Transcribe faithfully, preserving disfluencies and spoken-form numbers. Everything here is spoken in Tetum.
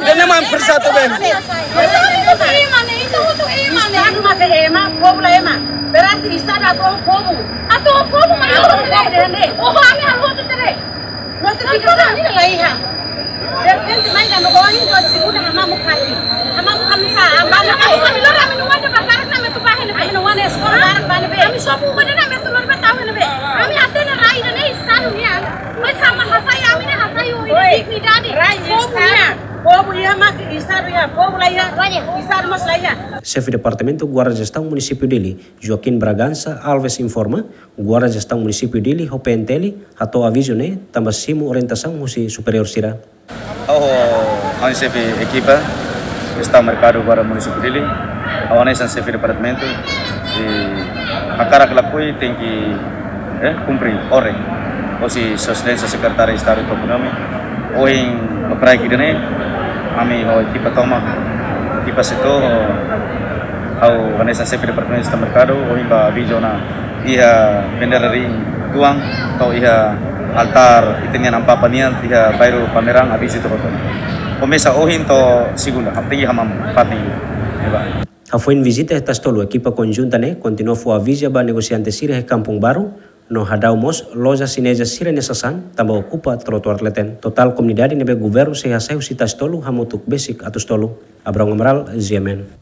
Ida-ne'e mak presiza atu bee. Ema ne'e, ita hotu ema ne'e. Estadu mak ema, povu la ema. Berarti Estadu atu povu. Atu povu mak ema ne'e. Oh, ami halo hotu tere. Notificação ne'e la iha. Derrepente mai dando ohin to'o segunda hamamuk hati. Hamamuk hamsa, hamamuk hati. Ami lori ami-nia oan ba karik ne'e atu bá iha ne'ebé. Ami-nia oan eskola barak bá iha ne'ebé. Ami sobu ba ne'e atu lori bá tau iha ne'ebé. Ami hatene rai ida-ne'e Estadu nian. Mas ami hasai, ami-nia hasai ho dignidade. Rai povu Estadu nian. Povu iha mak Estadu iha, povu la iha. Estadu mós la iha. Xefe Departamentu Guarda Jestaun Munisípiu Dili, Joaquim Bragança Alves informa, Guarda Jestaun Munisípiu Dili ho P N T L hato'o avizu ne'e tanba simu orientasaun husi superiór sira. Ha'u, ha'u xefe ekipa Jestaun Merkadu Guarda Munisípiu Dili, ha'u hanesan xefe departamentu, i hakarak lakohi tenke, eh, kumpre orden husi Sua Exelénsia Sekretáriu Estadu Toponímia. Ohin lokraik ida-ne'e, ami ho ekipa tomak, ekipa setór, ho ha'u hanesan xefe departamentu Jestaun Merkadu, ohin bá avizu ona iha bandeira ring tuan, to'o iha altár ita-nia Amu Papa nian, iha bairru Palmeirang, avizu to'o hotu. Komesa ohin to'o segunda, haptegi hamamuk, fatin. Eba. Hafoin vizita iha Tasitolu, ekipa konjunta ne'e kontinua fó avizu ba negosiante sira iha Kampung Baru, no hadau mós loja xineza sira-nia sasán, tanba okupa trotoar leten. Totál komunidade ne'ebé governu sei hasai husi Tasitolu hamutuk besik atus tolu. Abrão Amaral, G M N.